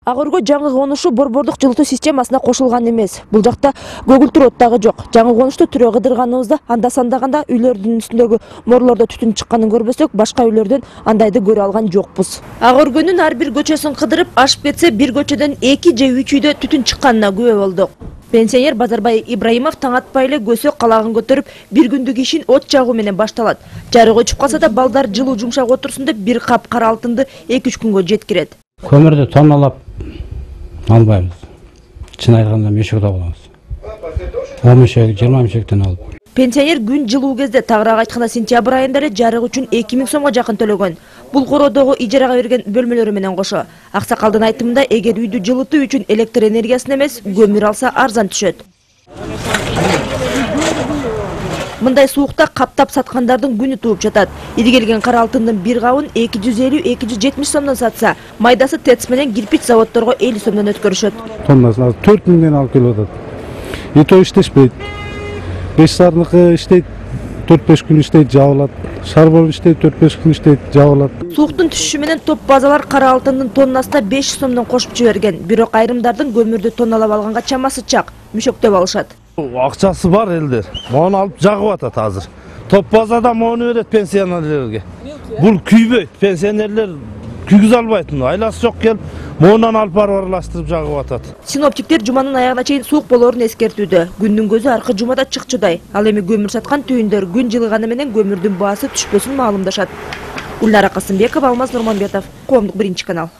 Ак Өргө жаңы конушу борбордук жылытуу системасына кошулган эмес. Бул жакта көгүлтүр от дагы жок. Жаңы конушта түрө кыдырганыбызда анда сандаганда үйлөрдүн үстүндөгү морлордо түтүн чыкканын көрбөсөк, башка үйлөрдөн андайды көрө алган жокпуз. Ак Өргөнүн ар бир көчөсүн кыдырып ашып кетсе, бир көчөдөн 2 же 3 үйдө түтүн чыкканына күбө болдук. Пенсионер Базарбай Ибраимов таң атпай эле көсөк калагын көтөрүп, бир күндүк ишин от жагуу менен башталат. Жарык өчүп калса да балдар жылуу жумшак отурсун деп бир кап кара алтынды 2-3 күнгө жеткирет. Көмүрдү тонналап албайбыз. Чын айтканда мешокто болобуз. 10 мешек, 20 мешектен алып. Пенсионер күн жылуу кезде, тагыраак айтканда сентябрь айында эле жарык үчүн 2000 сомго жакын төлөгөн. Бул короодогу ижарага берген бөлмөлөрү менен кошо. Аксакалдын айтымында, эгер үйдү жылытуу үчүн электр энергиясын эмес, көмүр алса арзан түшөт. Мындай суукта каптап саткандардын күнү тууп жатат. Ири келген кара алтындын бир кабын 250-270 сомдон сатса, майдасы ТЭЦ менен кирпич заводдорго 50 сомдон өткөрүшөт. Тоннасын 4000 алып келип атат. Ито иштешпейт. 5 сарныкы иштейт, 4-5 күн иштейт, жабылат. Шарбол иштейт, 4-5 күн иштейт, жабылат. Сууктун түшүшү менен топ базалар кара алтындын тоннасына 500 сомдон кошуп жиберген. Бирок айрымдардын көмүрдү тонналап алганга чамасы чак, мүшөктөп алышат. Акчасы бар элдер. Мону алып жагып атат азыр. Топ базада мону берет пенсионерлерге. Бул күйбөйт, пенсионерлер күйгүзө албайт. Айласы жок келип, монунан алып барып аралаштырып жагып атат. Синоптиктер жуманын аягына чейин суук болоорун эскертүүдө. Күндүн көзү аркы жумада чыкчудай. Ал эми көмүр саткан түйүндөр күн жылыганы менен көмүрдүн баасы түшпөсүн маалымдашат. Ульнара Касымбекова, Алмаз Нурманбетов, Коомдук 1 канал.